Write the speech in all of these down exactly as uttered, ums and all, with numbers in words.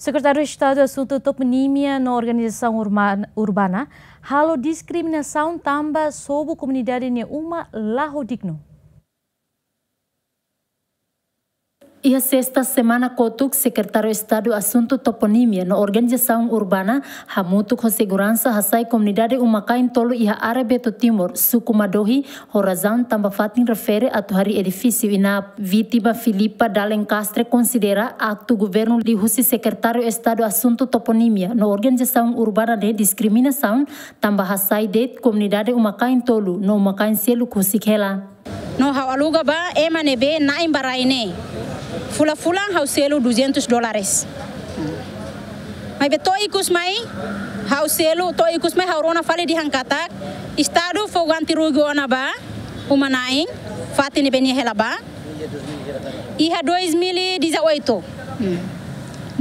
Sekretáriu Estadu Asuntu Toponímia no Organizasaun Urma-, Urbana halo diskriminasaun tanba sobu komunidade nia uma la ho dignu. Iha sesta semana kotuk, Sekretáriu Estadu Asuntu Toponímia no Organizasaun Urbana hamutuk ho seguransa hasai komunidade uma-kain tolu iha área Beto Timur, suku Madohi, ho razaun tanba fatin refere atu harii edifísiu inap. Vítima Filipa Dalencastre konsidera aktu governu liuhusi Sekretáriu Estadu Asuntu Toponímia no Organizasaun Urbana ne'e diskriminasaun tanba hasai de'it komunidade uma-kain tolu no uma-kain seluk husik hela. No ha'u aluga ba ema ne'ebé na'in ba rai ne'e. Fulan-fulan ha'u selu duzentos dólares. Maibé to'o ikus mai ha'u selu, to'o ikus mai ha'u rona fali dehan katak Estadu fó ganti rugi ona ba uma-na'in, fatin ne'ebé nia hela ba. Iha dois mil e dezoito. Hmm.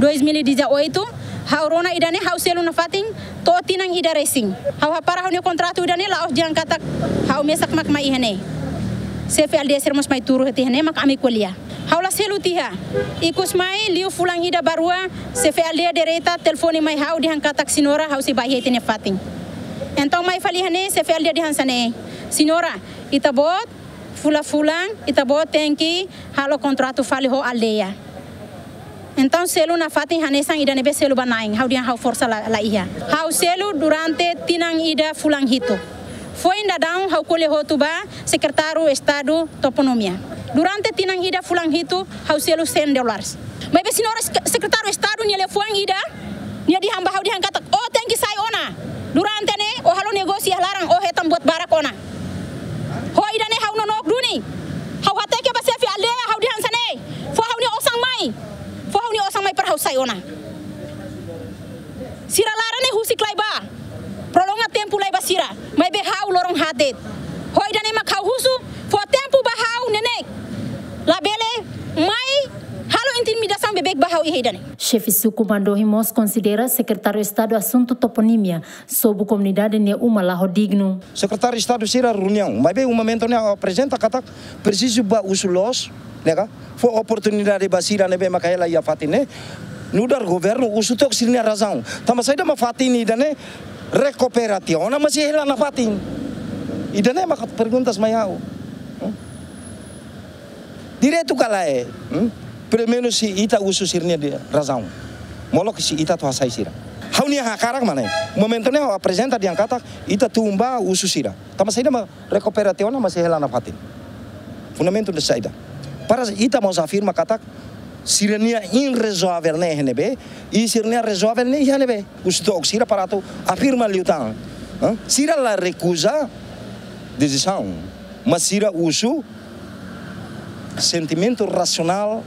Dois mil e dezoito, ha'u rona ida-ne'e ha'u selu nafatin to'o tinan ida resin. Ha'u hapara ha'u-nia kontratu ida-ne'e la'ós dehan katak ha'u mesak mak mai iha ne'e. Xefe aldeia sira mós mai tuur tiha ne'e mak ami ko'alia. Ha'u la selu tiha. Ikus mai liu fulan ida ba rua, xefe aldeia direta telefone mai ha'u dehan katak señora ha'u sei bá iha ita-nia fatin. Entaun mai fali iha ne'e xefe aldeia dehan hanesan ne'e: Señora, ita-boot fulan-fulan, ita-boot tenke halo kontratu fali ho aldeia. Entaun selu nafatin hanesan ida ne'ebé selu ba na'in, ha'u dehan ha'u forsa la, la iha. Ha'u selu durante tinan ida fulan hitu. Foin daudaun ha'u ko'alia hotu ba Sekretáriu Estadu Toponímia. Durante tinan ida fulan hitu ha'u selu cem dólares. Maibé señora sek-, Sekretáriu Estadu nia liafuan ida, nia dehan ba ha'u dehan katak, "Ó tenke sai ona. Durante ne'e ó halo negósiu iha laran, ó hetan buat barak ona." Ho ida-ne'e ha'u nonook duni. Ha'u hateke ba xefe aldeia, ha'u dehan hanesan ne'e: "Fó ha'u-nia osan mai. Fó ha'u-nia osan mai para ha'u sai ona." Sira laran ne'e husik lai ba. Prolonga tempu lai ba sira. Maibé ha'u loron haat de'it. Ho ida-ne'e mak ha'u husu, fó tempu ba ha'u neineik. Labele mai halo intimidasaun beibeik ba ha'u iha ida-ne'e. Xefe suku Madohi mós konsidera Sekretáriu Estadu Asuntu Toponímia sobu komunidade nia uma la ho dignu. Sekretáriu Estadu sira reuniaun, maibé momentu ne'e aprezenta katak presiza ba husu loos, ne'e ka? Fó oportunidade ba sira ne'ebé maka hela iha fatin ne'e. Nu'udar governu husu took sira-nia razaun. Tanba saida mak fatin ida-ne'e rekupera tiha ona, maibé hela nafatin. Ida-ne'e maka perguntas mai ha'u. Hmm? Direitu ka lae, hmm? Primeiru sei ita husu sira-nia razaun. Molok sei ita atu hasai sira. Ha'u-nia hakarak mak ne'e. Momentu ne'e ha'u aprezenta dehan katak ita tun bá husu sira. Tanba saida mak rekupera tiha ona, maibé hela nafatin. Fundamentu de saida. Para ita mós afirma katak sira-nia irrezoavel ne'e iha ne'ebé, i sira-nia rezoavel ne'e iha ne'ebé. Husu took sira para atu afirma liután. Hã? Sira la rekuza desizaun, maibé sira husu sentimentu rasionál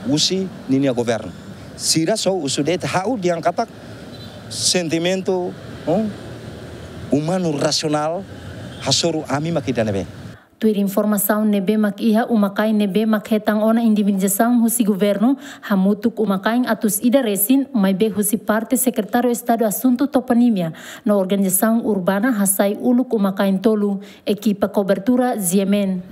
husi ninia governu. Sira só husu de'it, ha'u dehan katak sentimentu, hã, umanu rasionál hasoru ami mak ida ne'ebé. Tuir informasaun ne'ebé mak iha, uma-kain ne'ebé mak hetan ona indemnizasaun husi governu hamutuk uma-kain atus ida resin, maibé husi parte Sekretáriu Estadu Asuntu Toponímia no Organizasaun Urbana hasai uluk uma-kain tolu. Ekipa kobertura, G M N.